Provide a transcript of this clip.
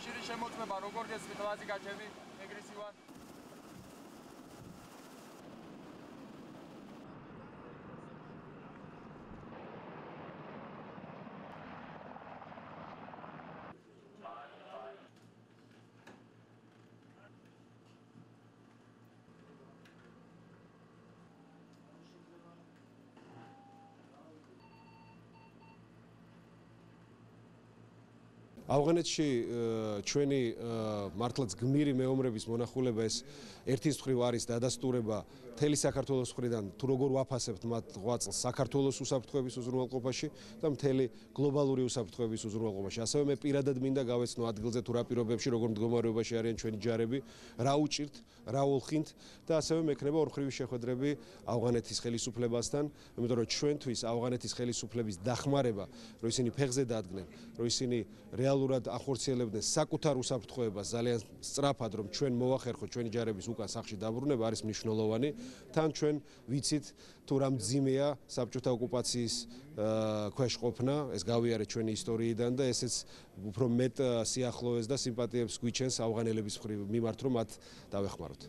კავშირის შემოწმება როგორ გესმით ლაზიკა ჩემი ეგრესივად? ავღანეთში ჩვენი მართლაც გმირი მეომრების მონახულება ეს ერთის მხრივ არის დადასტურება მთელი საქართველოს მხრიდან თუ როგორ ვაფასებთ მათ ღვაწლს საქართველოს უსაფრთხოების უზრუნველყოფაში და მთელი გლობალური უსაფრთხოების უზრუნველყოფაში. ასევე მე პირადად მინდა გავეცნო ადგილზე თუ რა პირობებში როგორ მდგომარეობაში არიან ჩვენი ჯარები, რა უჭირთ, რა ოლხინთ და ასევე მექნება ორმხრივი შეხვედრები ავღანეთის ხელისუფლებასთან, იმიტომ რომ ჩვენთვის ავღანეთის ხელისუფლების დახმარება, რომ ისინი ფეხზე დადგნენ, რომ ისინი რეალურად ახორციელებდნენ საკუთარ უსაფრთხოებას ძალიან სწრაფად, რომ ჩვენ მოვახერხოთ ჩვენი ჯარების უკან სახლში დაბრუნება არის მნიშვნელოვანი. თან ჩვენ ვიცით თუ რა მძიმეა საბჭოთა ოკუპაციის ქვეშ ყოფნა, ეს გავიარეთ ჩვენი ისტორიიდან და ესეც უფრო მეტ სიახლოვეს და სიმპათიებს გვიჩენს ავღანელების მიმართ, რომ მათ დავეხმაროთ.